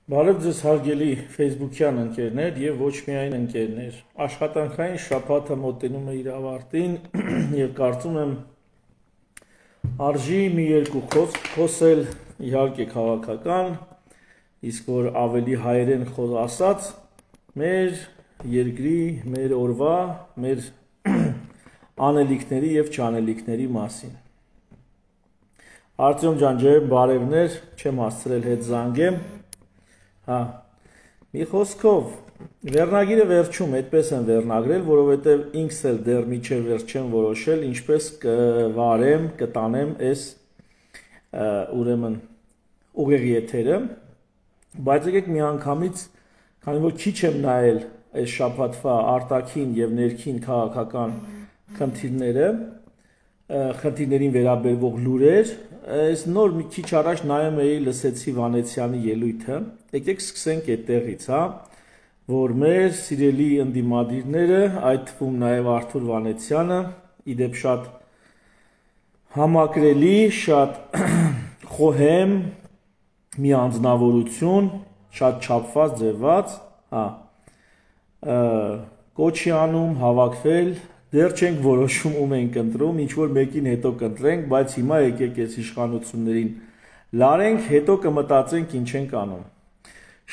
Բարև ձեզ հարգելի Facebook-յան ընկերներ եւ ոչ միայն ընկերներ։ Աշխատանքային շաբաթը մոտենում է իր ավարտին եւ կարծում եմ արժի մի երկու խոսք խոսել, իհարկե քաղաքական, իսկ որ ավելի հայերեն ասած, մեր երկրի, մեր օրվա, մեր անելիքների եւ չանելիքների մասին։ Արտյոմ ջան, ջերմ բարևներ, չեմ հասցրել հետ զանգեմ։ Հա, մի խոսքով, վերնագիրը վերջում այդպես են վերնագրել, որովհետև ինքս էլ դեռ միջև վերջ չեմ որոշել, ինչպես կվարեմ, կտանեմ այս ուրեմն ուղեղի եթերը, բայց եկեք մի անգամից, քանի որ քիչ եմ նայել այս շաբաթվա արտաքին եւ ներքին քաղաքական խնդիրներին վերաբերվող լուրեր, այս նոր մի քիչ առաջ նայում էի, լսեցի Վանեցյանի ելույթը, եկեք սկսենք այդտեղից, հա, որ մեր սիրելի ընդդիմադիրները, այդ թվում նաև Արթուր Վանեցյանը, իդեպ շատ համակրելի, շատ խոհեմ, մի անձնավորություն, շատ չափված, ձևված, հա, կոչի անում հավաքվել, դեռ չենք որոշում ում ենք ընտրում, ինչ որ մեկին հետո կընտրենք, բայց հիմա եկեք այս իշխանություններին լարենք, հետո կմտածենք ինչ ենք անում։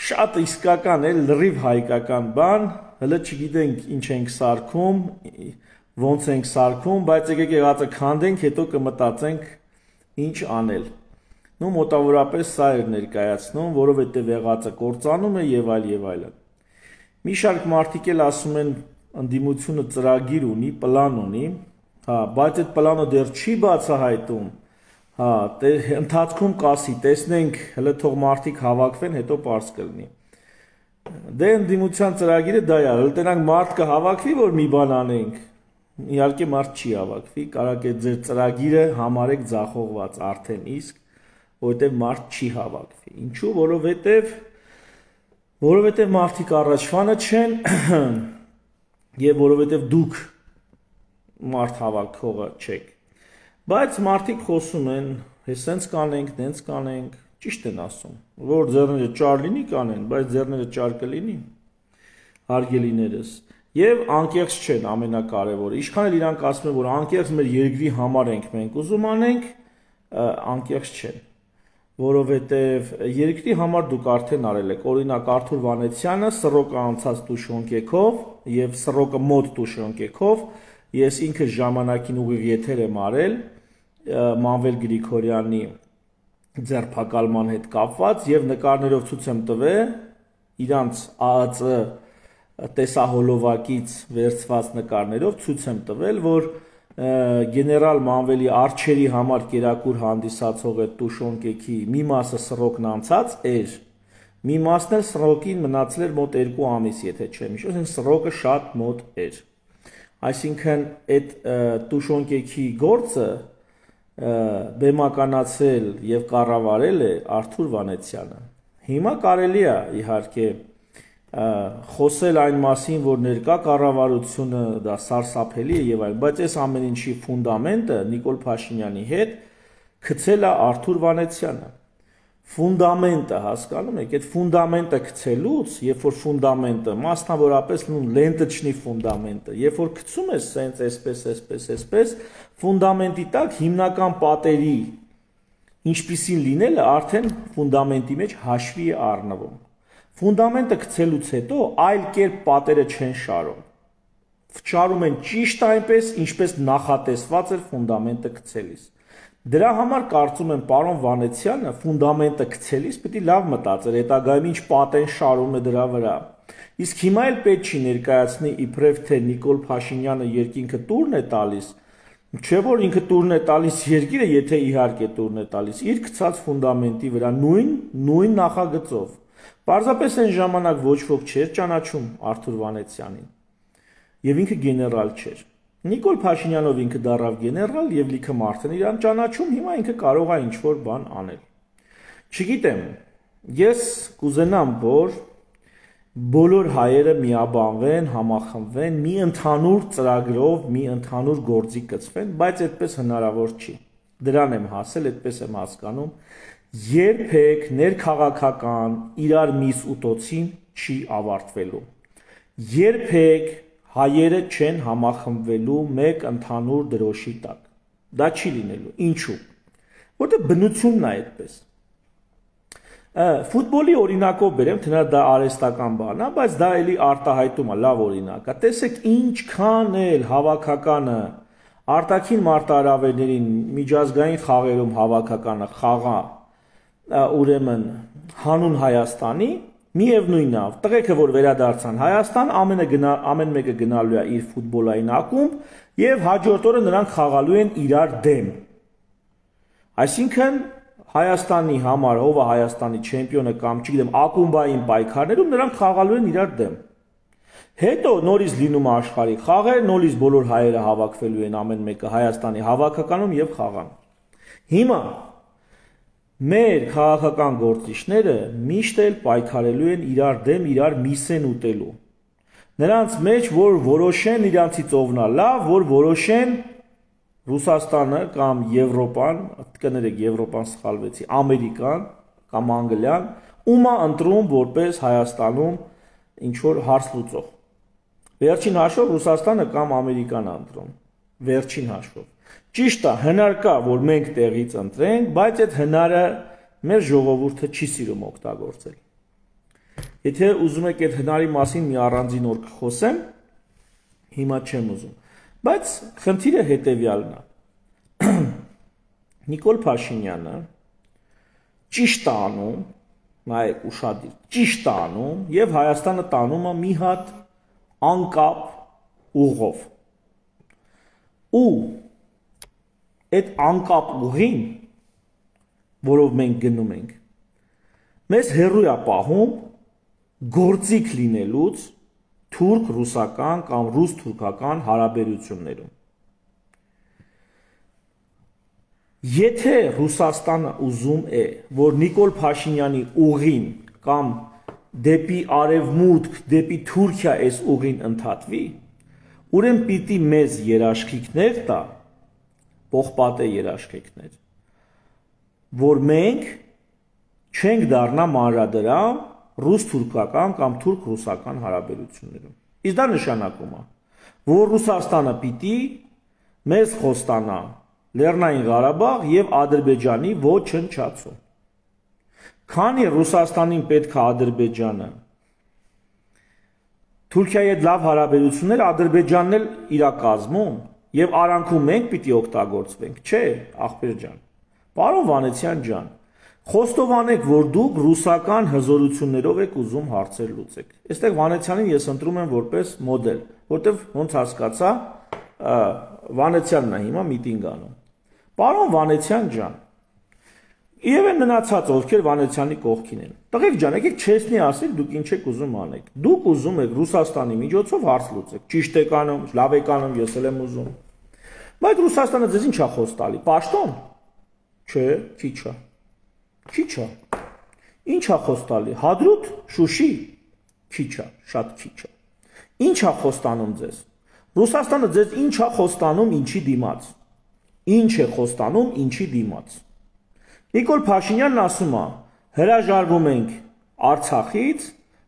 Շատ իսկական է, լրիվ հայկական բան, հələ չգիտենք ինչ ենք սարքում, ոնց ենք սարքում, բայց եկեք եղածը քանդենք, հետո կմտածենք ինչ անել։ Նու մոտավորապես սա էր ներկայացնում, որովհետև եղածը կործանում է եւ այլն։ Մի շարք մարդիկ էլ ասում են ընդդիմությունը ծրագիր ունի, պլան ունի, հա, բայց այդ պլանը դեռ չի բացահայտում, հա, ընթացքում կասի, տեսնենք, հələ թող մարդիկ հավաքվեն, հետո պարզ կլինի։ Դե ընդդիմության ծրագիրը դա է, հələ տենանք մարդ կհավաքվի, որ մի բան անենք, իհարկե մարդ չի հավաքվի, կարակ է ձեր ծրագիրը համարեք ձախողված արդեն իսկ, որովհետև մարդ չի հավաքվի։ Ինչու, որովհետև մարդիկ առաջվանը չեն եւ որովհետեւ դուք մարդ հավաքողը չեք, բայց մարդիկ խոսում են, հեսենց կանենք, դենց կանենք, ճիշտ են ասում, որ ձեռները ճար լինի կանեն, բայց ձեռները ճար կլինի, հարգելիներս, եւ անկեղծ չեն ամենակարևորը, ինչքան էլ իրանք ասում են, որ անկեղծ մեր երկրի համար ենք մենք ուզում անենք, անկեղծ չեն, որովհետև երկրի համար դուք արդեն արել եք, օրինակ Արթուր Վանեցյանը սռոկը անցած տուշոնկեքով եւ սռոկը մոտ տուշոնկեքով, ես ինքը ժամանակին ուղիղ եթեր եմ արել Մանվել Գրիգորյանի ձերբակալման հետ կապված եւ նկարներով ցույց եմ տվել իրանց ԱԱԾ տեսահոլովակից վերցված նկարներով ցույց եմ տվել, որ գեներալ Մանվելի արջերի համար կերակուր հանդիսացող այդ տուշոնկեքի մի մասը սռոկն անցած էր, մի մասն էլ սռոկին մնացել էր մոտ 2 ամիս, եթե չեմ հիշում, այսինքն սռոկը շատ մոտ էր։ Այսինքն այդ տուշոնկեքի գործը բեմականացել եւ կառավարել է Արթուր Վանեցյանը։ Հիմա կարելի է իհարկե խոսել այն մասին, որ ներկա կառավարությունը դա սարսափելի է եւ այլն, բայց այս ամեն ինչի ֆունդամենտը Նիկոլ Փաշինյանի հետ գցել է Արթուր Վանեցյանը։ Ֆունդամենտը, հասկանում եք, այդ ֆունդամենտը գցելուց, երբ որ ֆունդամենտը, մասնավորապես լենտչնի ֆունդամենտը, երբ որ գցում ես սենց այսպես, ֆունդամենտի տակ հիմնական պատերի ինչպիսին լինելը արդեն ֆունդամենտի մեջ հաշվի է առնվում։ Ֆունդամենտը գցելուց հետո այլ կերպ պատերը չեն շարում։ Շարում են ճիշտ այնպես, ինչպես նախատեսված էր ֆունդամենտը գցելիս։ Դրա համար կարծում եմ պարոն Վանեցյանը ֆունդամենտը գցելիս պետք է լավ մտածեր, հետագայում ինչ պատ են շարում է դրա վրա։ Իսկ հիմա էլ պետք չի ներկայացնի իբրև թե Նիկոլ Փաշինյանը երկինքը տուրն է տալիս, չէ որ ինքը տուրն է տալիս երկիրը, եթե իհարկե տուրն է տալիս, իր գցած ֆունդամենտի վրա նույն նախագծով։ Պարզապես այն ժամանակ ոչ ոք չէր ճանաչում Արթուր Վանեցյանին եւ ինքը գեներալ չէր։ Նիկոլ Փաշինյանով ինքը դառավ գեներալ եւ լիքը մարդ են իրան ճանաչում, հիմա ինքը կարող է ինչ-որ բան անել։ Չգիտեմ, ես կուզենամ, որ բոլոր հայերը միաբանվեն, համախմբվեն, մի ընդհանուր ծրագրով, մի ընդհանուր գործի կցվեն, բայց այդպես հնարավոր չի։ Դրան եմ հասել, այդպես եմ հասկանում երբեք ներքաղաքական իրար միս ուտոցին չի ավարտվելու։ Երբեք հայերը չեն համախմբվելու մեկ ընդհանուր դրոշի տակ։ Դա չի լինելու։ Ինչու՞։ Որտեղ բնությունն է այդպես։ Ֆուտբոլի օրինակով բերեմ, թե դա արհեստական բան է, բայց դա էլի արտահայտում է, լավ օրինակ է։ Տեսեք ինչքան էլ հավաքականը արտաքին մարտահրավերներին միջազգային խաղերում հավաքականը խաղա ուրեմն հանուն Հայաստանի, միևնույնն է, տղեկը որ վերադարձան Հայաստան, ամեն մեկը գնալու է իր ֆուտբոլային ակումբ եւ հաջորդ օրը նրանք խաղալու են իրար դեմ։ Այսինքն Հայաստանի համար ով է Հայաստանի չեմպիոնը կամ չգիտեմ ակումբային պայքարներում նրանք խաղալու են իրար դեմ։ Հետո նորից լինում է աշխարհի խաղեր, նորից բոլոր հայերը հավաքվելու են ամեն մեկը Հայաստանի հավաքականում եւ խաղան։ Հիմա մեր քաղաքական գործիչները միշտ էլ պայքարելու են իրար դեմ, իրար միս են ուտելու։ Նրանց մեջ որ որոշեն իրանցից ովն է լավ, որ որոշեն Ռուսաստանը կամ Եվրոպան, կներեք Եվրոպան սխալվեցի, Ամերիկան կամ Անգլիան, ում է ընտրում որպես Հայաստանում ինչ որ հարց լուծող։ Վերջին հաշվով Ռուսաստանը կամ Ամերիկան է ընտրում, վերջին հաշվով։ Ճիշտ է, հնար կա, որ մենք տեղից ընտրենք, բայց այդ հնարը մեր ժողովուրդը չի սիրում օգտագործել։ Եթե ուզում եք այդ հնարի մասին մի առանձին օր կխոսեմ, հիմա չեմ ուզում։ Բայց խնդիրը հետևյալն է։ Նիկոլ Փաշինյանը ճիշտ է անում, նայեք ուշադիր, ճիշտ է անում եւ Հայաստանը տանում է մի հատ անկապ ուղով։ Ու այդ անկապ ուղին, որով մենք գնում ենք, մեզ հեռու է պահում գործիք լինելուց թուրք-ռուսական կամ ռուս-թուրքական հարաբերություններում։ Եթե Ռուսաստանը ուզում է, որ Նիկոլ Փաշինյանի ուղին կամ դեպի արևմուտք, դեպի Թուրքիա այս ուղին ընդհատվի, ուրեմն պիտի մեզ երաշխիքներ տա, պողպատե երաշխիքներ, որ մենք չենք դառնա մանրադրամ ռուս-թուրքական կամ թուրք-ռուսական հարաբերություններում։ Իսկ դա նշանակում է, որ Ռուսաստանը պիտի մեզ խոստանա Լեռնային Ղարաբաղ եւ Ադրբեջանի ոչնչացում։ Քանի Ռուսաստանին պետք է Ադրբեջանը Թուրքիայի հետ լավ հարաբերություններ, Ադրբեջանն էլ իր կազմում եւ արանքում մենք պիտի օգտագործվենք, չէ, ախպեր ջան։ Պարոն Վանեցյան ջան, խոստովանեք, որ դուք ռուսական հզորություններով եք ուզում հարցեր լուծեք։ Այստեղ Վանեցյանին ես ընտրում եմ որպես մոդել, որտեվ ոնց հասկացա, Վանեցյանն է հիմա միտինգ անում։ Պարոն Վանեցյան ջան, եւ են մնացած ովքեր Վանեցյանի կողքին են։ Տղեկ ջան, եկեք չեսնի ասեք, դուք ինչ եք ուզում անեք։ Դուք ուզում եք Ռուսաստանի միջոցով հարց լուծեք։ Ճիշտ եք անում, լավ եք անում, ես էլ եմ ուզում։ Բայց Ռուսաստանը ձեզ ինչ է խոս տալի։ Պաշտոն։ Չէ, քիչ է։ Քիչ է։ Ինչ է խոս տալի։ Հադրութ, Շուշի։ Քիչ է, շատ քիչ է։ Ինչ է խոստանում ձեզ։ Ռուսաստանը ձեզ ինչ է խոստանում ինչի դիմաց։ Ինչ է խոստանում ինչի դիմաց։ Նիկոլ Փաշինյանն ասում է. հրաժարվում ենք Արցախից,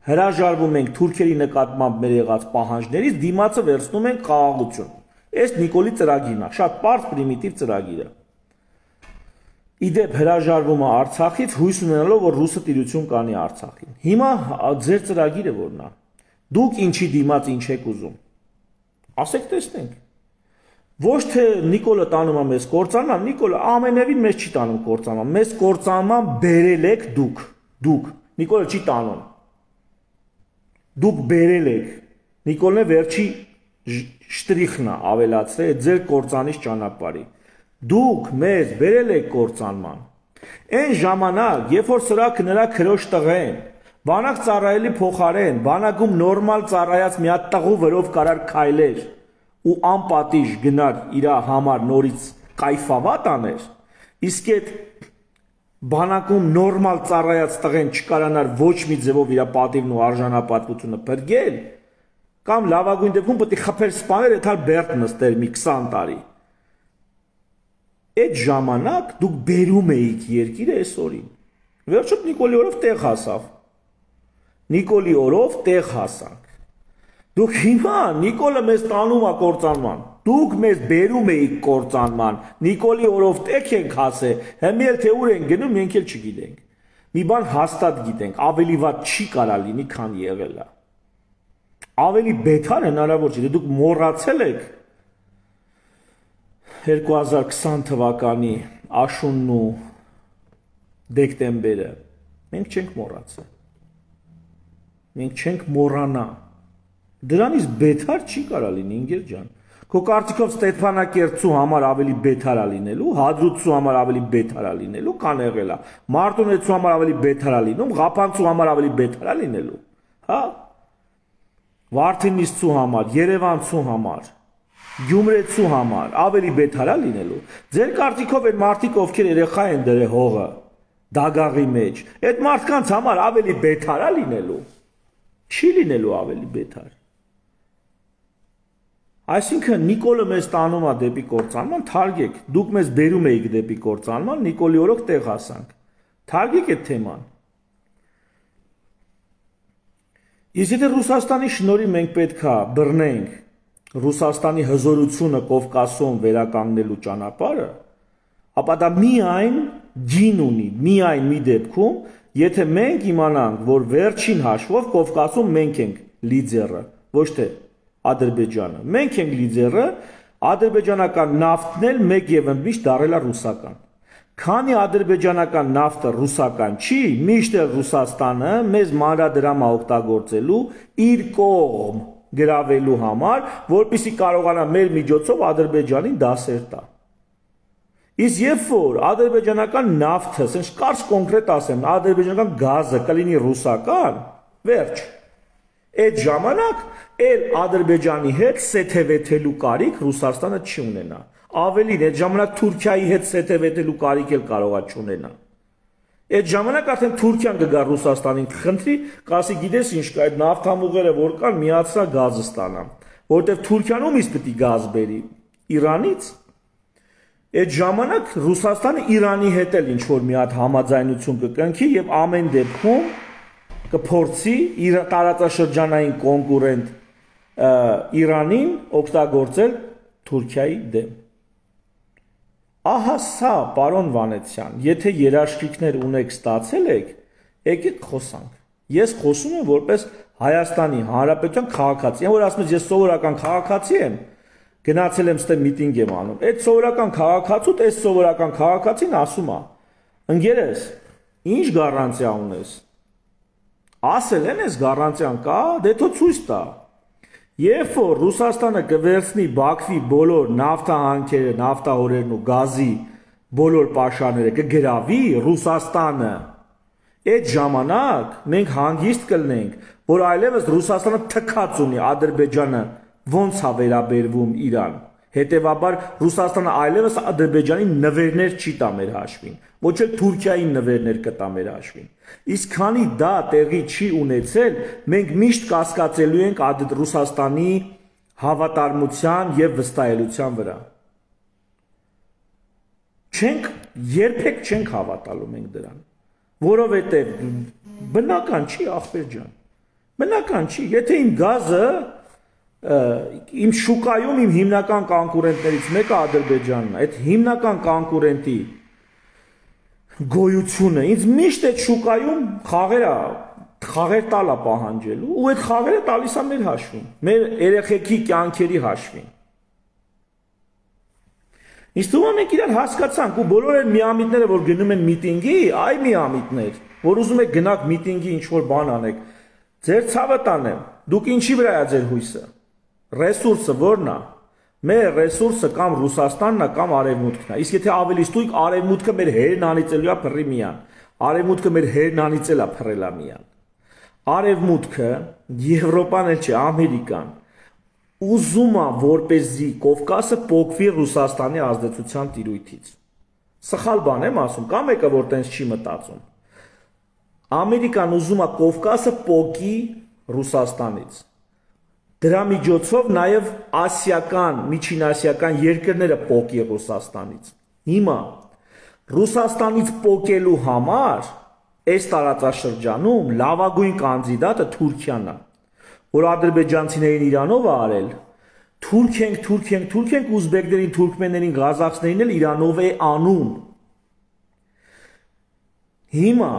հրաժարվում ենք թուրքերի նկատմամբ մեր եղած պահանջներից, դիմացը վերցնում ենք խաղաղություն։ Այս Նիկոլի ծրագիրն է, շատ պարզ պրիմիտիվ ծրագիր է։ Իդեպ հրաժարվում է Արցախից, հույս ունենալով, որ ռուսը տիրություն կանի Արցախին։ Հիմա ձեր ծրագիրը որն է։ Դուք ինչի դիմաց ինչ եք ուզում։ Ասեք տեսնենք։ Ոչ թե Նիկոլը տանում է մեզ կործանման, Նիկոլը ամենևին մեզ չի տանում կործանման, մեզ կործանման բերել եք դուք, Նիկոլը չի տանում, դուք բերել եք, Նիկոլն է վերջի շտրիխն է ավելացրել ձեր կործանիչ ճանապարհի, դուք մեզ բերել եք կործանման, այն ժամանակ, երբ որ սրակը նրա քրոջ տղեն, բանակ ծառայելի փոխարեն, բանակում նորմալ ծառայած մի հատ տղու վրով կարար քայլեր, ու անպատիժ գնար իր համար նորից կայֆավատ աներ, իսկ այդ բանակում նորմալ ծառայած տղեն չկարանար ոչ մի ձևով իր պատիվն ու արժանապատվությունը բրգել, կամ լավագույն դեպքում պետք է խփեր սպաներ, այդ հալ բերդ նստեր մի 20 տարի։ Այդ ժամանակ դուք բերում էիք երկիրը այս օրին։ Վերջում Նիկոլի օրով տեղ հասավ։ Նիկոլի օրով տեղ հասանք։ Դուք հիմա Նիկոլը մեզ տանում է կործանման։ Դուք մեզ բերում էիք կործանման։ Նիկոլի օրով տեղ ենք հասել, հիմա էլ թե ուր ենք գնում, մենք էլ չգիտենք։ Մի բան հաստատ գիտենք, ավելի վատ չի կարա լինի, քան եղել է։ Ավելի բետար հնարավոր չէ, դուք մոռացել եք 2020 թվականի աշունն ու դեկտեմբերը, մենք չենք մոռացել, մենք չենք մոռանա, դրանից բետար չի կարա լինի, ինգեր ջան, քո կարծիքով Ստեփանակերտցու համար ավելի բետար է լինելու, Հադրութցու համար ավելի բետար է լինելու, քան եղել է, Մարտունեցու համար ավելի բետար է լինում, Ղափանցու համար ավելի բետար է լինելու, հա, Վարդենիսցու համար, Երևանցու համար, Գյումրեցու համար ավելի բետար է լինելու։ Ձեր կարծիքով այդ մարդիկ ովքեր երեխա են դրել հողը դագաղի մեջ, այդ մարդկանց համար ավելի բետար է լինելու։ Չի լինելու ավելի բետար։ Այսինքն Նիկոլը մեզ տանում է դեպի կործանման, թարգեք, դուք մեզ բերում էիք դեպի կործանման, Նիկոլի օրոք տեղ հասանք։ Թարգեք այդ թեման։ Իսկ եթե Ռուսաստանի շնորհիվ մենք պետք է բռնենք Ռուսաստանի հզորությունը Կովկասում վերականգնելու ճանապարհը, ապա դա միայն գին ունի, միայն մի դեպքում, եթե մենք իմանանք, որ վերջին հաշվով Կովկասում մենք ենք լիդերը, ոչ թե Ադրբեջանը։ Մենք ենք լիդերը, ադրբեջանական նավթն էլ մեկ եւ ընդմիշտ դարել է ռուսական։ Քանի ադրբեջանական նավթը ռուսական չի, միշտ էլ Ռուսաստանը մեզ մանրադրամ է օգտագործելու իր կողմ գրավելու համար, որպեսզի կարողանա մեր միջոցով Ադրբեջանին դասեր տա։ Իսկ երբ որ ադրբեջանական նավթը, ասենք կարճ կոնկրետ ասեմ, ադրբեջանական գազը կլինի ռուսական, վերջ։ Այդ ժամանակ էլ Ադրբեջանի հետ սեթևեթելու կարիք Ռուսաստանը չի ունենա։ Ավելին, այդ ժամանակ Թուրքիայի հետ սեթևեթելու կարիք էլ կարող է չունենա։ Այդ ժամանակ արդեն Թուրքիան կգա Ռուսաստանին կխնդրի, կասի գիտես ինչ կա, այդ նավթամուղերը որ կան, միացրա գազը ստանամ, որտեղ Թուրքիան ումից պետք է գազ բերի, Իրանից։ Այդ ժամանակ Ռուսաստանը Իրանի հետ էլ ինչ որ մի հատ համաձայնություն կկնքի եւ ամեն դեպքում կփորձի իր տարածաշրջանային կոնկուրենտ Իրանին օգտագործել Թուրքիայի դեմ։ Ահա սա, պարոն Վանեցյան, եթե երաշխիքներ ունեք ստացել եք, եկեք խոսանք։ Ես խոսում եմ որպես Հայաստանի Հանրապետության քաղաքացի, որ ասում ես սովորական քաղաքացի եմ, գնացել եմ ստե միտինգ եմ անում։ Այդ սովորական քաղաքացուդ, այս սովորական քաղաքացին ասում է. ընկերս, ինչ գառանտիա ունես։ Ասել են այս գառանտիան կա, դե թո ցույց տա։ Երբ որ Ռուսաստանը կվերցնի Բաքվի բոլոր նավթահանքերը, նավթահորերն ու գազի բոլոր պաշարները կգրավի Ռուսաստանը, այդ ժամանակ մենք հանգիստ կլինենք, որ այլևս Ռուսաստանը թքած ունի Ադրբեջանը ոնց է վերաբերվում Իրան։ Հետևաբար Ռուսաստանը այլևս Ադրբեջանի նվերներ չի տա մեր հաշվին, ոչ էլ Թուրքիայի նվերներ կտա մեր հաշվին։ Իսկ քանի դա տեղի չի ունեցել, մենք միշտ կասկածելու ենք Ռուսաստանի հավատարմության եւ վստահելիության վրա։ Երբեք չենք հավատալու մենք դրան, որովհետեւ բնական չի, ախպեր ջան։ Բնական չի, եթե իմ գազը իմ շուկայում իմ հիմնական կոնկուրենտներից մեկը Ադրբեջանն է, այդ հիմնական կոնկուրենտի գոյությունը ինձ միշտ այդ շուկայում խաղեր տալ է պահանջելու ու այդ խաղերը տալիս է մեր հաշվին, մեր երեխեքի կյանքերի հաշվին։ Իսկ դու մենք իրար հասկացանք ու բոլոր այն միամիտները, որ գնում են միտինգի, այ միամիտներ, որ ուզում եք գնաք միտինգի ինչ-որ բան անեք, ձեր ցավը տանեմ, դուք ինչի վրա է ձեր հույսը։ Ռեսուրսը ո՞րն է։ Մեր ռեսուրսը կամ Ռուսաստանն է կամ Արևմուտքն է։ Իսկ եթե ավելի ստույգ Արևմուտքը մեր հերն անիծելու է փռի միան։ Արևմուտքը մեր հերն անիծել է փռելա միան։ Արևմուտքը, Եվրոպան էլ չէ, Ամերիկան ուզում է որպեսզի Կովկասը փոկվի Ռուսաստանի ազդեցության տիրույթից։ Սխալ բան եմ ասում, կամ եկա որ տենց չի մտածում։ Ամերիկան ուզում է Կովկասը փոկի Ռուսաստանից։ Դրա միջոցով նաև ասիական, միջինասիական երկրները փոկի Ռուսաստանից։ Հիմա Ռուսաստանից փոկելու համար այս տարածաշրջանում լավագույն կանդիդատը Թուրքիան է, որ ադրբեջանցիներին Իրանով է արել, թուրք ենք ուզբեկներին, թուրքմեններին, ղազախցիներին էլ Իրանով է անում։ Հիմա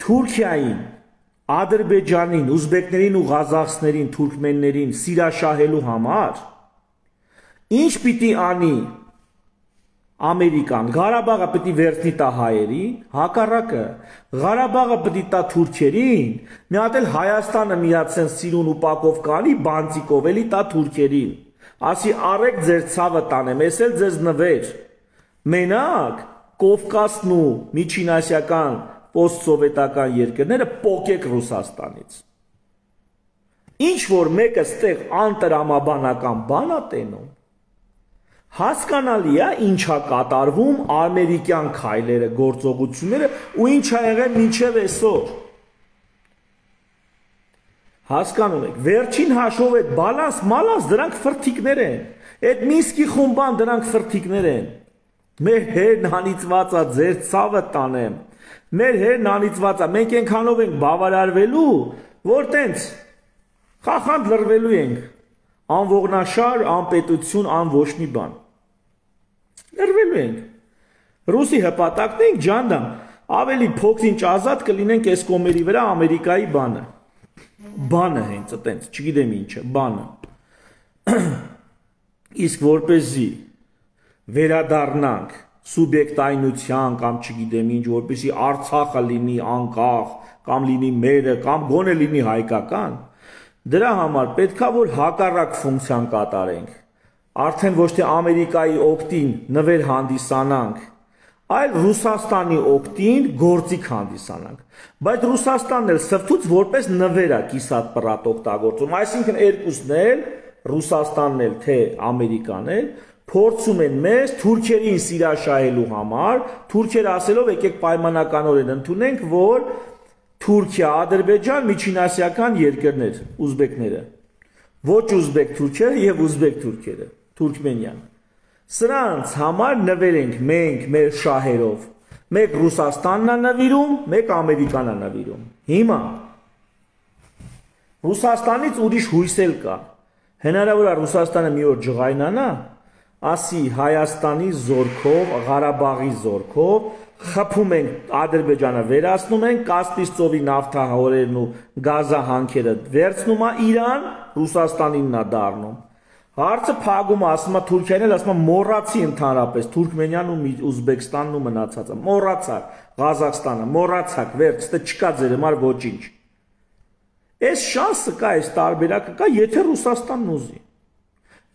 Թուրքիային, Ադրբեջանին, ուզբեկներին ու ղազախցիներին, թուրքմեններին սիրաշահելու համար ինչ պիտի անի Ամերիկան, Ղարաբաղը պիտի վերցնի տա հայերին, հակառակը, Ղարաբաղը պիտի տա թուրքերին, մի հատ էլ Հայաստանը միացեն սիրուն ու պակով կանի, բանտիկով էլի տա թուրքերին, ասի արեք ձեր ցավը տանեմ, ես էլ ձեզ նվեր, մենակ Կովկասն ու միջինասիական պոստսովետական երկրները պոկեք Ռուսաստանից։ Ինչ որ մեկը ստեղ անտրամաբանական բան է տենում, հասկանալի է ինչա կատարվում ամերիկյան քայլերը, գործողությունները ու ինչ ա եղել մինչև այսօր։ Հասկանում եք, վերջին հաշվով այդ բալանս, մալանս դրանք ֆրթիկներ են, այդ Մինսկի խումբան դրանք ֆրթիկներ են։ Մեր հերն անիծվածա ձեր ցավը տանեմ, մեր հերն անիծվածա, մենք ենքանով ենք բավարարվելու, որ տենց խախանդ լրվելու ենք, անողնաշար, անպետություն, ան ոչ մի բան։ Լրվելու ենք։ Ռուսի հպատակն ենք ջանդամ, ավելի փոքրինչ ազատ կլինենք այս կոմերի վրա Ամերիկայի բանը հենց այտենց, չգիտեմ ինչը, բանը։ Իսկ որպեսզի վերադառնանք սուբյեկտայնության կամ չգիտեմ ինչ, որպեսզի Արցախը լինի անկախ, կամ լինի մերը, կամ գոնե լինի հայկական, դրա համար պետքա որ հակառակ ֆունկցիան կատարենք, արդեն ոչ թե Ամերիկայի օգտին նվեր հանդիսանանք, այլ Ռուսաստանի օգտին գործիք հանդիսանանք, բայց Ռուսաստանն էլ սրտուց որպես նվեր է կիսատ պռատ օգտագործում, այսինքն երկուսն էլ, Ռուսաստանն էլ թե Ամերիկան էլ, փորձում են մեզ թուրքերին սիրաշահելու համար, թուրքերը ասելով եկեք պայմանականորեն ընդունենք, որ Թուրքիա, Ադրբեջան, միջինասիական երկրներ, ուզբեկները, ոչ ուզբեկ թուրքերը եւ ուզբեկ թուրքերը, թուրքմենյան։ Սրանց համար նվեր ենք մենք մեր շահերով, մեկ Ռուսաստանն է նվիրում, մեկ Ամերիկան է նվիրում։ Հիմա Ռուսաստանից ուրիշ հույս էլ կա։ Հնարավոր է Ռուսաստանը մի օր ջղայնանա, ասի Հայաստանի զորքով, Ղարաբաղի զորքով խփում ենք Ադրբեջանը վերացնում ենք, Կասպից ծովի նավթահորերն ու գազահանքերը վերցնում է Իրան, Ռուսաստանինն է դառնում։ Հարցը փակում է, ասում է Թուրքիան էլ ասում է մոռացի ընդհանրապես Թուրքմենիան ու Ուզբեկստանն ու մնացածը, մոռացաք Ղազախստանը, մոռացաք, վերջ, ստե չկա ձեր համար ոչինչ։ Այս շանսը կա, այս տարբերակը կա, եթե Ռուսաստանն ուզի։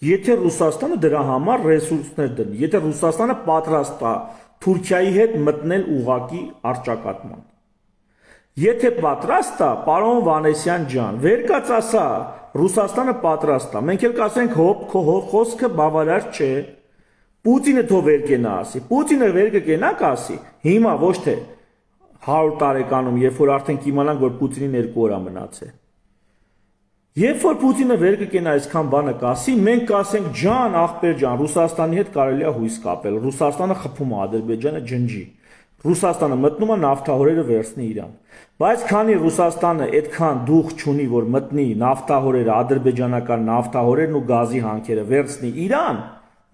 Եթե Ռուսաստանը դրա համար ռեսուրսներ դնի, եթե Ռուսաստանը պատրաստ է Թուրքիայի հետ մտնել ուղակի առճակատման։ Եթե պատրաստ է, պարոն Վանեսյան ջան, վեր կաց ասա, Ռուսաստանը պատրաստ է, մենք էլ կասենք հոп, քո խոսքը բավարար չէ, Պուտինը թող վեր կենա ասի, Պուտինը վեր կենա կասի, հիմա ոչ թե 100 տարեկանում, երբ որ արդեն կիմանանք, որ Պուտինին 2 օր է մնացել։ Երբ որ Պուտինը վեր կենա այսքան բանը կասի, մենք կասենք ջան, ախպեր ջան, Ռուսաստանի հետ կարելի է հույս կապել, Ռուսաստանը խփում է Ադրբեջանը ջնջի, Ռուսաստանը մտնում է նավթահորերը վերցնի Իրան, բայց քանի Ռուսաստանը այդքան դուխ չունի, որ մտնի նավթահորերը, ադրբեջանական նավթահորերն ու գազի հանքերը վերցնի Իրան,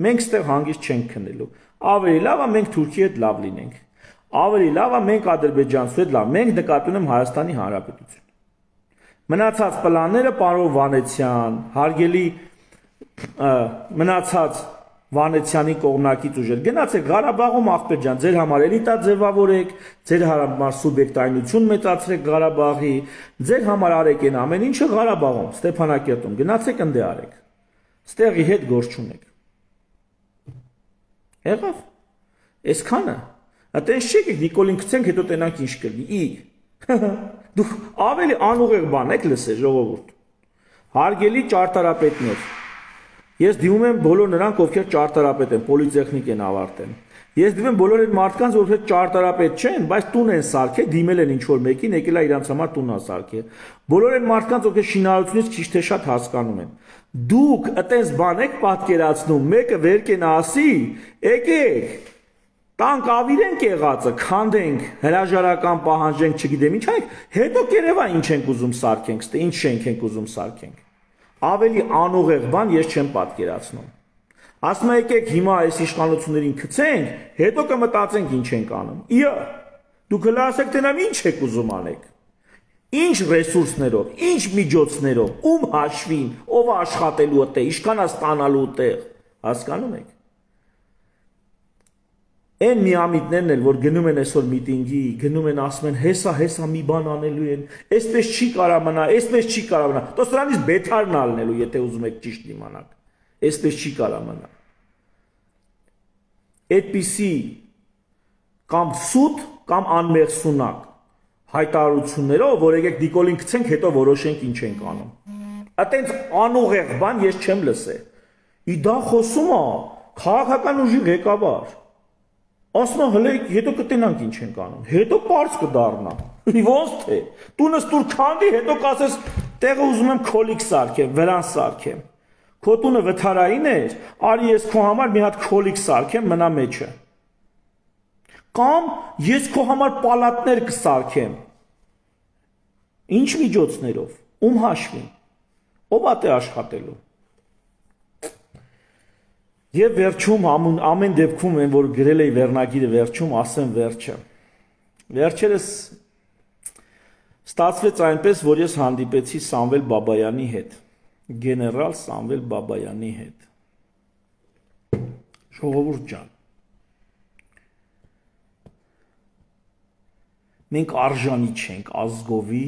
մենք ստեղ հանգիստ չենք քնելու, ավելի լավ է մենք Թուրքիի հետ լավ լինենք, ավելի լավ է մենք ադրբեջանցու հետ լավ, մենք նկատի ունեմ Հայաստանի Հանրապետություն։ Մնացած պլանները պարոն Վանեցյան, հարգելի մնացած Վանեցյանի կողմնակից ուժեր, գնացեք Ղարաբաղում ախպեր ջան, ձեր համար էլիտա ձևավորեք, ձեր համար սուբյեկտայնություն մեծացրեք Ղարաբաղի, ձեր համար արեք այն ամեն ինչը Ղարաբաղում, Ստեփանակերտում, գնացեք ընդ արեք, ստեղի հետ գործ չունեք։ Եղավ, այսքանը, այտենց չեք Նիկոլին գցենք, հետո տենանք ինչ կլինի, դուք ավելի անուղեղ բան եք լսել ժողովուրդ, հարգելի ճարտարապետներ, ես դիմում եմ բոլոր նրանք, ովքեր ճարտարապետ են, պոլիտեխնիկ են ավարտել, ես դիմում եմ բոլոր այդ մարդկանց, ովքեր ճարտարապետ չեն, բայց տուն են սարքել, դիմել են ինչ-որ մեկին, եկել է իրանց համար տուն է սարքել, բոլոր այդ մարդկանց, ովքեր շինարարությունից քիչ թե շատ հասկանում են, դուք այտենց բան եք պատկերացնում, մեկը վեր կենա ասի, եկեք տանք ավիրենք եղածը, քանդենք, հրաժարական պահանջենք, չգիտեմ ինչ անենք, հետո կերևա ինչ ենք ուզում սարքենք, ստե ինչ շենք ենք ուզում սարքենք։ Ավելի անուղեղ բան ես չեմ պատկերացնում։ Ասում եկեք հիմա այս իշխանություններին գցենք, հետո կմտածենք ինչ ենք անում։ Իա, դուք հլը ասեք թե նամ ինչ եք ուզում անեք։ Ինչ ռեսուրսներով, ինչ միջոցներով, ում հաշվին, ով աշխատելու է, ինչքան է ստանալու տեղ, հասկանում եք։ Այն միամիտներն էլ, որ գնում են այսօր միտինգի, գնում են ասում են հեսա մի բան անելու են, այսպես չի կարա մնա, այսպես չի կարա մնա, դու սրանից բեթարն ալնելու, եթե ուզում եք ճիշտ իմանաք, այսպես չի կարա մնա։ Այդպիսի կամ սուտ կամ անմեղսունակ հայտարարություններով, որ եկեք դիկոլին գցենք, հետո որոշենք ինչ ենք անում։ Այտենց անուղեղ բան ես չեմ լսել։ Դա խոսում է քաղաքական ուժի ղեկավար։ Ասում է հələ հետո կտենանք ինչ ենք անում։ Հետո པարզ կդառնա։ Ոնց թե։ Տունս դուր քանդի, հետո կասես տեղը ուզում եմ քոլիկ սարքեմ, վրան սարքեմ։ Քո տունը վթարային էր, արի ես քո համար մի հատ քոլիկ սարքեմ, մնա մեջը։ Կամ ես քո համար պալատներ կսարքեմ։ Ինչ միջոցներով, ում հաշվին, ով է աշխատելու։ Եվ վերջում ամեն դեպքում են, որ գրել էի վերնագիրը վերջում, ասեմ վերջը։ Վերջերս ստացվեց այնպես, որ ես հանդիպեցի Սամվել Բաբայանի հետ, գեներալ Սամվել Բաբայանի հետ։ Ժողովուրդ ջան, մենք արժանի չենք ազգովի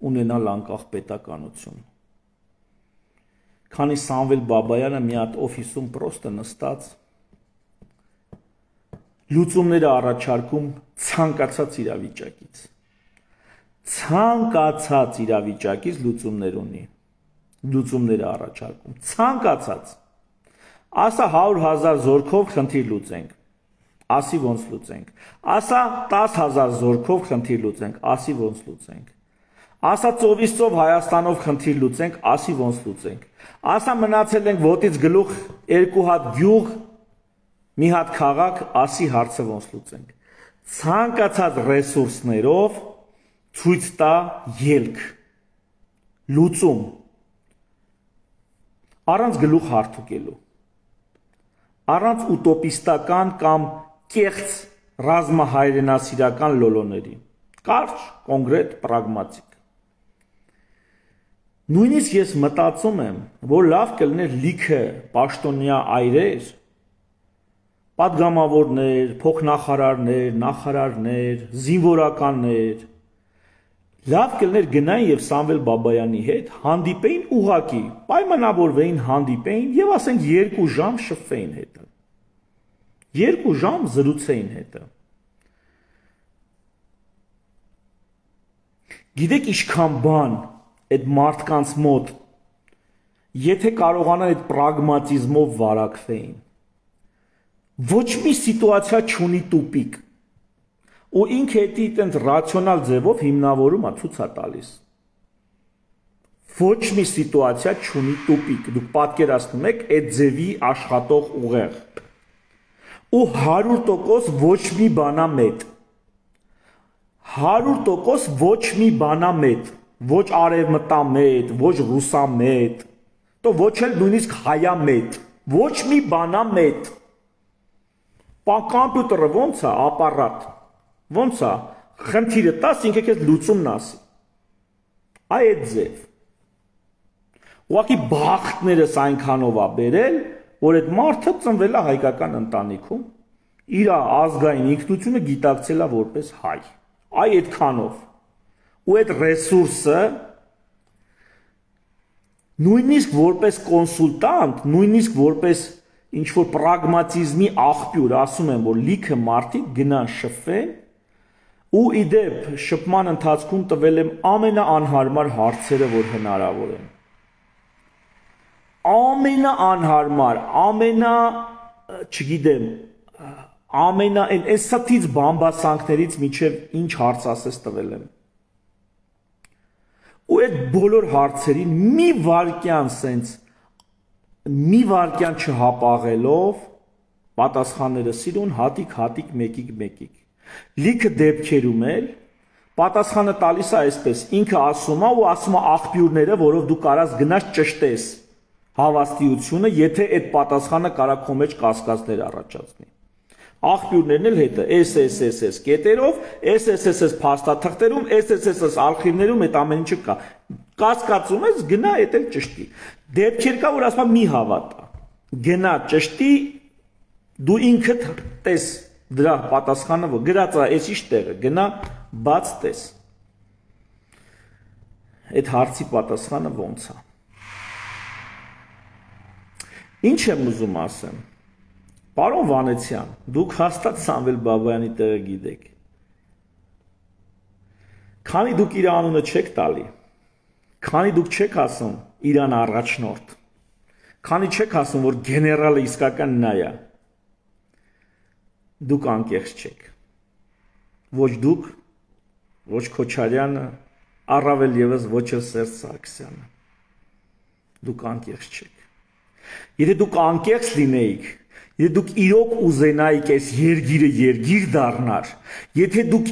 ունենալ անկախ պետականություն։ Քանի Սամվել Բաբայանը մի հատ օֆիսում պրոստը նստած լուծումները առաջարկում ցանկացած իրավիճակից։ Ցանկացած իրավիճակից լուծումներ ունի։ Լուծումները առաջարկում։ Ցանկացած։ Ասա 100,000 զորքով խնդիր լուծենք։ Ասի ոնց լուծենք։ Ասա 10,000 զորքով խնդիր լուծենք, ասի ոնց լուծենք։ Ասա ծովից ծով Հայաստանով խնդիր լուծենք, ասի ոնց լուծենք։ Ասա մնացել ենք ոտից գլուխ 2 հատ գյուղ, մի հատ քաղաք, ասի հարցը ոնց լուծենք։ Ցանկացած ռեսուրսներով ցույց տա ելք։ Լուծում։ Առանց գլուխ հարթուկելու։ Առանց ուտոպիստական կամ կեղծ ռազմահայրենասիրական լոլոների, կարճ, կոնկրետ, պրագմատիկ։ Նույնիսկ ես մտածում եմ, որ լավ կլներ լիքը պաշտոնյա այրեր, պատգամավորներ, փոխնախարարներ, նախարարներ, զինվորականներ, լավ կլներ գնային եւ Սամվել Բաբայանի հետ հանդիպեին ուղակի, պայմանավորվեին հանդիպեին եւ ասենք 2 ժամ շփվեին հետը։ 2 ժամ զրուցեին հետը։ Գիտեք ինչքան բան այդ մարդկանց մոտ, եթե կարողանան այդ պրագմատիզմով վարակվեին, ոչ մի սիտուացիա չունի տուպիկ, ու ինքը էդի տենց ռացիոնալ ձևով հիմնավորում է ցույց է տալիս։ Ոչ մի սիտուացիա չունի տուպիկ, դուք պատկերացնում եք այդ ձևի աշխատող ուղեղ։ Ու 100% ոչ մի բանա մետ։ 100% ոչ մի բանա մետ, ոչ արևմտամետ, ոչ ռուսամետ, то ոչ էլ նույնիսկ հայամետ, ոչ մի բանա մետ։ Կոմպյուտերը ոնց է, ապարատ, ոնց է, խնդիրը տաս, ինքը քեզ լուծումն ասի։ Այդ ձև։ Ուղղակի բախտներս այնքանով է բերել, որ այդ մարդը ծնվել է հայկական ընտանիքում, իր ազգային ինքնությունը գիտակցել է որպես հայ։ Այ այդքանով։ Ու այդ ռեսուրսը նույնիսկ որպես կոնսուլտանտ, նույնիսկ որպես ինչ-որ պրագմատիզմի աղբյուր, ասում եմ, որ լիքը մարդիկ գնան շփվեն, ու իդեպ շփման ընթացքում տվել եմ ամենաանհարմար հարցերը, որ հնարավոր են։ Ամենաանհարմար, չգիտեմ, այս սթից բամբասանքներից միջև ինչ հարց ասես տվել եմ։ Ու այդ բոլոր հարցերին մի վարքյան չհապաղելով պատասխանները սիրուն հատիկ մեկիկ։ Լիքը դեպքերում էլ պատասխանը տալիս է այսպես, ինքը ասում է ու ասում է աղբյուրները, որով դու կարաս գնաս ճշտես հավաստիությունը, եթե այդ պատասխանը կարա քո մեջ կասկածներ առաջացնի։ Աղբյուրներն էլ հետը SSSS կետերով, SSSS փաստաթղթերում, SSSS արխիվներում այդ ամեն ինչը կա։ Կասկածում ես, գնա այդ էլ ճշտի։ Դեպքեր կա, որ ասում մի հավատա։ Գնա ճշտի, դու ինքդ տես դրա պատասխանը, որ գրած է այս ինչ տեղը, գնա բաց տես։ Այդ հարցի պատասխանը ոնց է։ Ինչ եմ ուզում ասեմ։ Պարոն Վանեցյան, դուք հաստատ Սամվել Բաբայանի տեղը գիտեք։ Քանի դուք իր անունը չեք տալի, քանի դուք չեք ասում իրան առաջնորդ, քանի չեք ասում, որ գեներալը իսկական նա է, դուք անկեղծ չեք։ Ոչ դուք, ոչ Քոչարյանը, առավել ևս ոչ էլ Սերժ Սարգսյանը։ Դուք անկեղծ չեք։ Եթե դուք անկեղծ լինեիք, եթե դուք իրոք ուզենայիք այս երգիրը երգիր դառնար, եթե դուք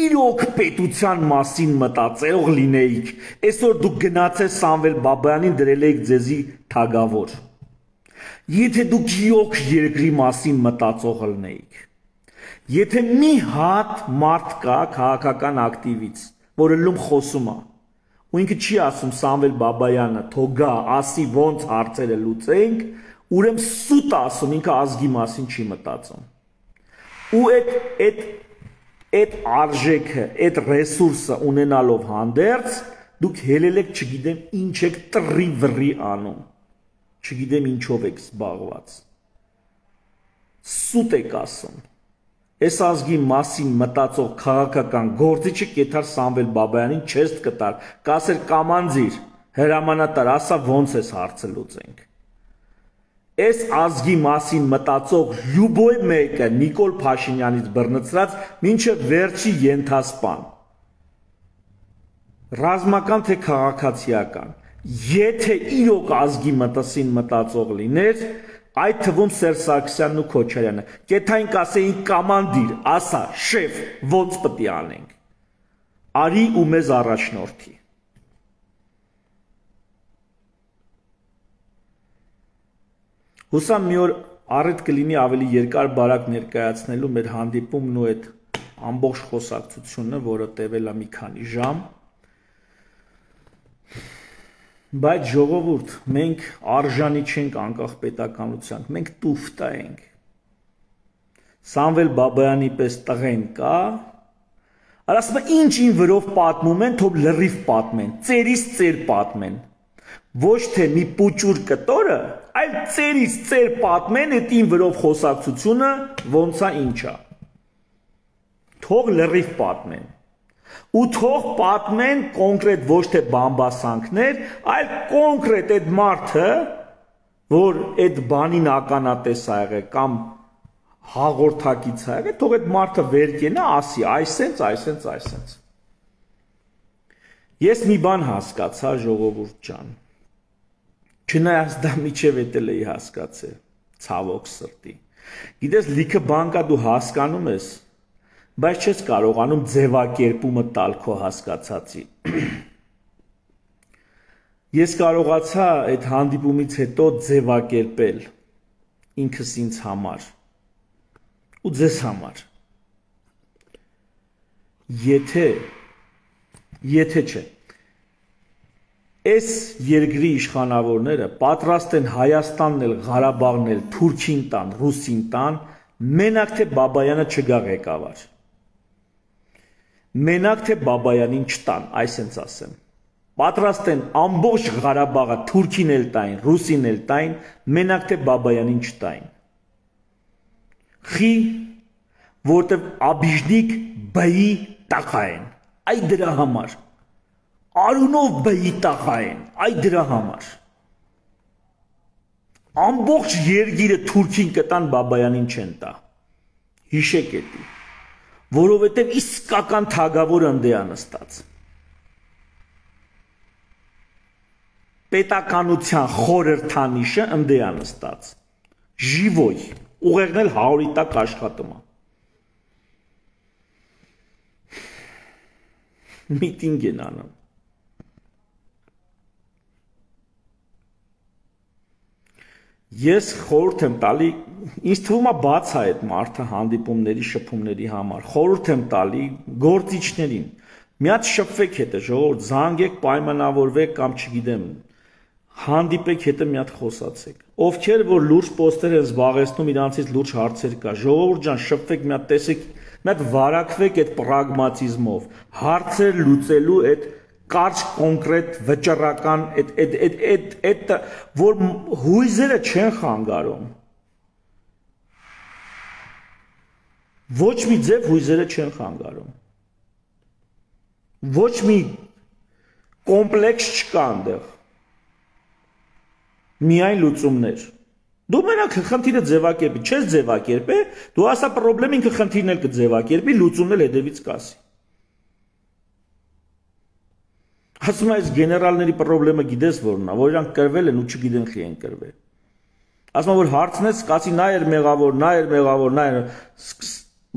իրոք պետության մասին մտածող լինեիք, այսօր դուք գնացեք Սամվել Բաբայանին դրել եք ձեզի թագավոր։ Եթե դուք իրոք երկրի մասին մտածող լինեիք, եթե մի հատ մարդ կա քաղաքական ակտիվից, որը լում խոսում է, ու ինքը չի ասում Սամվել Բաբայանը թողա, ասի ոնց հարցերը լուծենք, ուրեմն սուտ ասում, ինքը ազգի մասին չի մտածում։ Ու այդ արժեքը, այդ ռեսուրսը ունենալով հանդերձ, դուք հելել եք, չգիտեմ, ինչ եք տրի վրի անում, չգիտեմ ինչով եք զբաղված։ Սուտ եք ասում։ Այս ազգի մասին մտածող քաղաքական գործիչը կեթար Սամվել Բաբայանին չեստ կտար, կասեր կամանձիր, հրամանատար, ասա ոնց ես հարցը լուծենք։ Այս ազգի մասին մտածող լյուբոյ մեկը Նիկոլ Փաշինյանից բռնցրած մինչև վերջի ենթասպան։ Ռազմական թե քաղաքացիական, եթե իրոք ազգի մտածին մտածող լիներ, այդ թվում Սերժ Սարգսյանն ու Քոչարյանը, կեթային կասեին կամանդիր, ասա, շեֆ, ոնց պտի անենք։ Արի ու մեզ առաջնորդի։ Հուսամ մի օր առիթ կլինի ավելի երկար բարակ ներկայացնելու մեր հանդիպումն ու այդ ամբողջ խոսակցությունը, որը տևել է մի քանի ժամ։ Բայց ժողովուրդ, մենք արժանի չենք անկախ պետականության, մենք տուֆտա ենք։ Սամվել Բաբայանի պես տղեն կա, ասում է ինչ-ին վրով պատմում են, թող լրիվ պատմեն, ծերից ծեր պատմեն։ Ոչ թե մի պուճուր կտորը, այլ ծերից ծեր պատմեն, այդ ին վրով խոսակցությունը ոնց է ինչ է։ Թող լրիվ պատմեն։ Ու թող պատմեն կոնկրետ ոչ թե բամբասանքներ, այլ կոնկրետ այդ մարդը, որ այդ բանին ականատես ա եղել կամ հաղորդակից ա եղել, թող այդ մարդը վեր կենա, ասի այսենց։ Ես մի բան հասկացա, ժողովուրդ ջան։ Չնայած դա միջև էտել էի հասկացել, ցավոք սրտի։ Գիտես, լիքը բան կա դու հասկանում ես, բայց չես կարողանում ձևակերպումը տալ քո հասկացածի։ Ես կարողացա այդ հանդիպումից հետո ձևակերպել ինքս ինձ համար ու ձեզ համար։ Եթե չէ, այս երկրի իշխանավորները պատրաստ են Հայաստանն էլ, Ղարաբաղն էլ, Թուրքին տան, Ռուսին տան, մենակ թե Բաբայանը չգա ղեկավար։ Մենակ թե Բաբայանին չտան, այսենց ասեմ։ Պատրաստ են ամբողջ Ղարաբաղը Թուրքին էլ տային, Ռուսին էլ տային, մենակ թե Բաբայանին չտային։ Խի, որտև աբիժնիկ բայի տախա են, այ դրա համար։ Արունով բայի տախա են, այ դրա համար։ Ամբողջ երգիրը Թուրքին կտան, Բաբայանին չեն տա։ Հիշեք էդի, որովհետև իսկական թագավորը ընդ է նստած։ Պետականության խորհրդանիշը ընդ է նստած։ Ժիվոյ, ուղեղն էլ 100-ի տակ աշխատում է։ Միտինգ են անում։ Ես խորհուրդ եմ տալի, ինձ թվում է բաց է այդ մարդը հանդիպումների, շփումների համար, խորհուրդ եմ տալի գործիչներին, մի հատ շփվեք հետը, ժողովուրդ, զանգեք, պայմանավորվեք կամ չգիտեմ, հանդիպեք հետը մի հատ խոսացեք, ովքեր որ լուրջ պոստեր են զբաղեցնում, իրանցից լուրջ հարցեր կա, ժողովուրդ ջան, շփվեք, մի հատ տեսեք, մի հատ վարակվեք այդ պրագմատիզմով, հարցեր լուծելու այդ կարճ կոնկրետ վճռական այդ որ հույզերը չեն խանգարում, ոչ մի ձև հույզերը չեն խանգարում, ոչ մի կոմպլեքս չկա այնտեղ, միայն լուծումներ, դու մենակ խնդիրը ձևակերպի, չես ձևակերպե, դու ասա պրոբլեմ ինքը խնդիրն էլ կձևակերպի, լուծումն էլ հետևից կասի։ Ասում այս գեներալների պրոբլեմը գիտես որն է, որ իրանք կրվել են ու չգիտեն խի են կրվել։ Ասում որ հարցնես, կասի նա էր մեղավոր,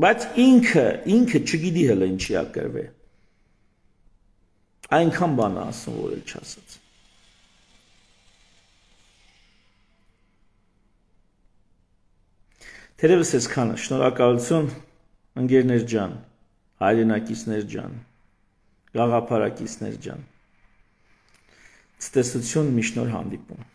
բայց ինքը չգիտի հələ ինչի է կրվել։ Այնքան բան է ասում, որ էլ չասած։ Թերևս այսքանը, շնորհակալություն ընկերներ ջան, հայրենակիցներ ջան, գաղափարակիցներ ջան։ Ցտեսություն մի շնոր հանդիպում։